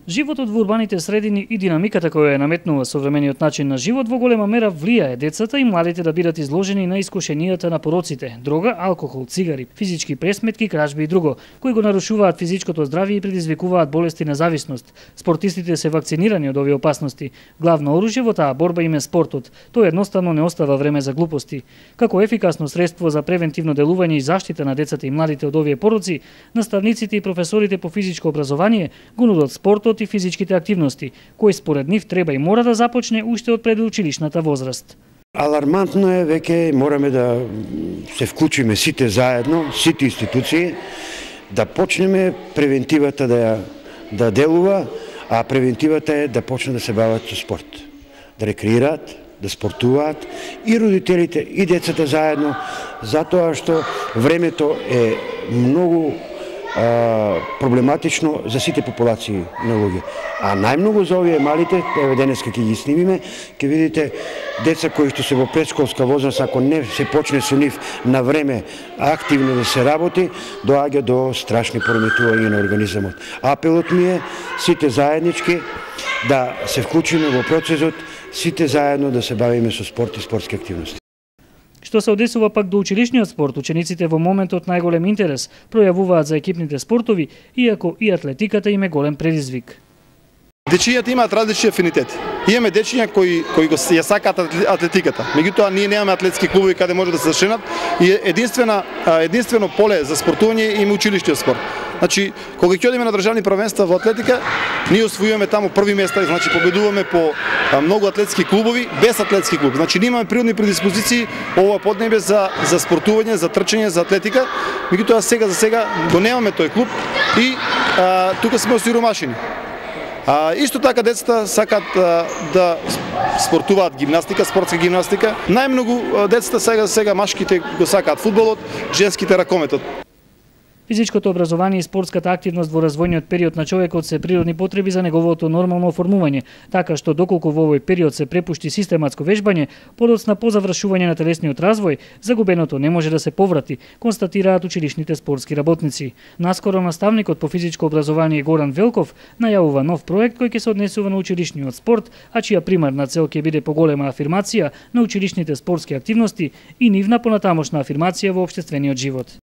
Животот во урбаните средини и динамиката која ја наметнува современиот начин на живот во голема мера влијае децата и младите да бидат изложени на искушенијата на пороците, дрога, алкохол, цигари, физички пресметки, кражби и друго, кои го нарушуваат физичкото здравје и предизвикуваат болести на зависност. Спортистите се вакцинирани од овие опасности. Главно оружје во таа борба им е спортот. Тој едноставно не остава време за глупости. Како ефикасно средство за превентивно делување и заштита на децата и младите од овие пороци, наставниците и професорите по физичко образование го нудат спортот и физичките активности, кој според нив треба и мора да започне уште од предучилишната возраст. Алармантно е, веќе мораме да се вклучиме сите заедно, сите институции, да почнеме превентивата да делува, а превентивата е да почнат да се бават со спорт, да рекреираат, да спортуваат и родителите и децата заедно, затоа што времето е многу проблематично за сите популации на луѓе. А најмногу за овие малите, еве денеска ќе ги снимиме, ќе видите деца кои што се во предшколска возраст, ако не се почне со нив на време активно да се работи, доаѓа до страшни пореметувања на организмот. Апелот ми е сите заеднички да се вклучиме во процесот, сите заедно да се бавиме со спорт и спортски активности. Што се одесува пак до училишниот спорт, учениците во моментот најголем интерес пројавуваат за екипните спортови, иако и атлетиката им е голем предизвик. Дечињата имаат различни афинитети. Имаме дечиња кои ја сакаат атлетиката. Меѓутоа ние немаме атлетски клубови каде може да се зашенат и единствено поле за спортување има училишниот спорт. Значи, кога ќе одиме на државни првенства во атлетика, ние освојуваме таму први места, значи победуваме по многу атлетски клубови, без атлетски клуб. Значи, ние имаме природни предиспозиции ова поднебе за спортување, за трчање, за атлетика. Меѓутоа за сега го немаме тој клуб и тука сме осиромашени. Исто така децата сакат да спортуваат гимнастика, спортска гимнастика. Најмногу децата сега машките го сакаат фудбалот, женските ракометот. Физичкото образование и спортската активност во развојниот период на човекот се природни потреби за неговото нормално оформување, така што доколку во овој период се препушти систематско вежбање, подоцна по завршување на телесниот развој, загубеното не може да се поврати, констатираат училишните спортски работници. Наскоро наставникот по физичко образование Горан Велков најавува нов проект кој ќе се однесува на училишниот спорт, а чија примарна цел ќе биде поголема афирмација на училишните спортски активности и нивна понатамошна афирмација во општествениот живот.